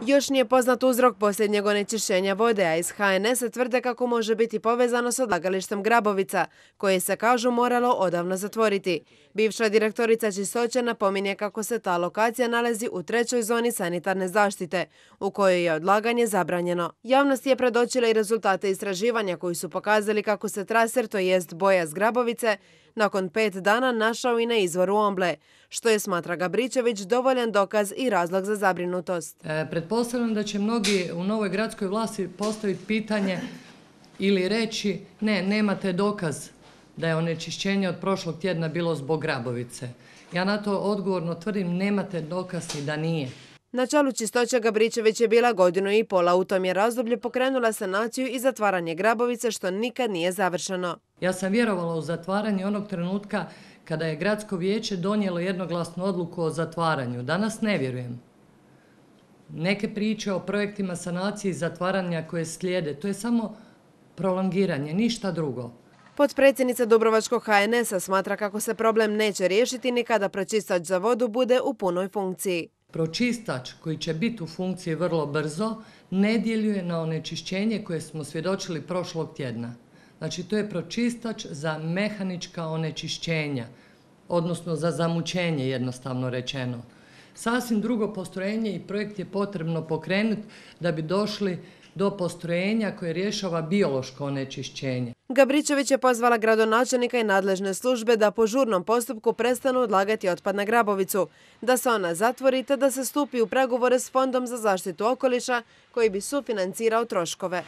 Još nije poznat uzrok posljednjeg onečišćenja vode, a iz HNS-a tvrde kako može biti povezano s odlagalištem Grabovica, koje se, kažu, moralo odavno zatvoriti. Bivša direktorica čistoće napominje kako se ta lokacija nalazi u 3. zoni sanitarne zaštite, u kojoj je odlaganje zabranjeno. Javnost je predočila i rezultate istraživanja koji su pokazali kako se traser, to jest boja z Grabovice, nakon 5 dana našao i na izvoru Omble, što je, smatra Gabričević, dovoljan dokaz i razlog za zabrinutost. Pretpostavljam da će mnogi u novoj gradskoj vlasti postaviti pitanje ili reći ne, nemate dokaz da je onečišćenje od prošlog tjedna bilo zbog Grabovice. Ja na to odgovorno tvrdim, nemate dokaz i da nije. Na čelu čistoće Gabričević je bila 1,5 godine, a u tom je razdoblju pokrenula sanaciju i zatvaranje Grabovice, što nikad nije završeno. Ja sam vjerovala u zatvaranje onog trenutka kada je gradsko vijeće donijelo jednoglasnu odluku o zatvaranju. Danas ne vjerujem. Neke priče o projektima sanacije i zatvaranja koje slijede, to je samo prolongiranje, ništa drugo. Potpredsjednica Dubrovačkog HNS-a smatra kako se problem neće riješiti ni kada pročistač za vodu bude u punoj funkciji. Pročistač koji će biti u funkciji vrlo brzo ne djeluje na onečišćenje koje smo svjedočili prošlog tjedna. Znači, to je pročistač za mehanička onečišćenja, odnosno za zamućenje, jednostavno rečeno. Sasvim drugo postrojenje i projekt je potrebno pokrenuti da bi došli do postrojenja koje rješava biološko onečišćenje. Gabričević je pozvala gradonačelnika i nadležne službe da po žurnom postupku prestanu odlagati otpad na Grabovicu, da se ona zatvori te da se stupi u pregovore s Fondom za zaštitu okoliša koji bi sufinancirao troškove.